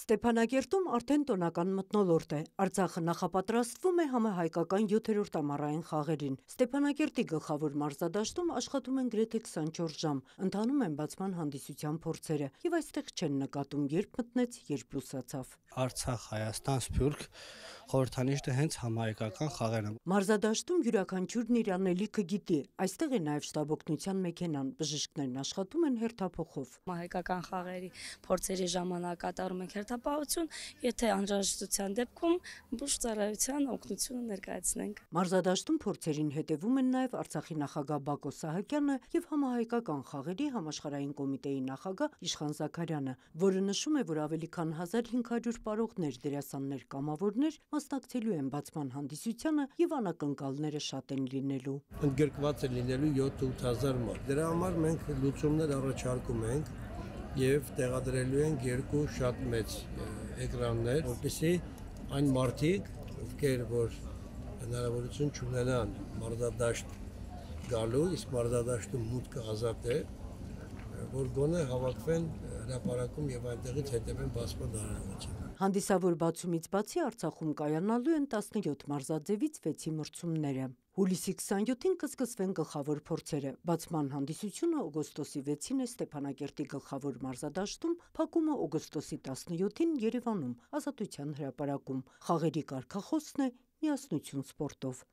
Ստեփանագերտում արդեն տոնական մթնոլորտ է։ Արցախը նախապատրաստվում է համահայկական 7-րդ ամառային խաղերին։ Ստեփանագերտի գլխավոր մարզադաշտում աշխատում են գրեթե 24 ժամ, ընթանում են բացման հանդիսության փորձերը եւ այստեղ չեն նկատում երբ մտնեց, երբ լուսացավ։ Արցախ, Հայաստան, Սփյուռք խորհրդանիշը հենց համահայկական խաղերն են։ Մարզադաշտում յուրաքանչյուրն իր անելիքը գիտի։ Այստեղ է նաեւ շտաբօգնության մեքենան, բժիշկներն աշխատում են հերթափոխով։ Հայկական խաղերի փորձերի ժամանակ կատարում ենք հերթապահություն, եթե անհրաժեշտության դեպքում բուժծառայության օգնությունը ներկայացնենք։ Մարզադաշտում փորձերին հետևում են նաեւ Արցախի նախագահ Բակո Սահակյանը եւ համահայկական խաղերի համաշխարհային կոմիտեի նախագահ Իշխան Զաքարյանը, որը նշում է, որ ավելի քան 1500 պարողներ, դերասաններ, կամավորներ մասնակցելու են բացման հանդիսությանը եւ անակնկալները շատ են լինելու։ Ընդգրկված է լինելու 7-8000 մարդ։ Դրա համար մենք լուծումներ առաջարկում ենք եւ տեղադրելու ենք երկու շատ մեծ էկրաններ, որպեսզի այն մարդիկ, ովքեր որ հնարավորություն չունենան մարզադաշտ գալու, իսկ մարզադաշտում մուտքը ազատ է, որ գոնե հավաքվեն հրապարակում եւ այնտեղից հետևեն բացման արարողությանը։ Հանդիսավոր բացումից բացի Արցախում կայանալու են 17 մարզաձևից 6-ի մրցումները։ Հուլիսի 27-ին կսկսվեն գլխավոր փորձերը։ Բացման հանդիսությունը օգոստոսի 6-ին է Ստեփանագերտի գլխավոր մարզադաշտում, փակումը օգոստոսի 17-ին Երևանում Ազատության հրապարակում։ Խաղերի կարգախոսն է միասնություն սպորտով։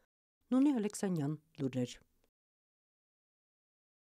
Նոնի Ալեքսանյան, լուրեր։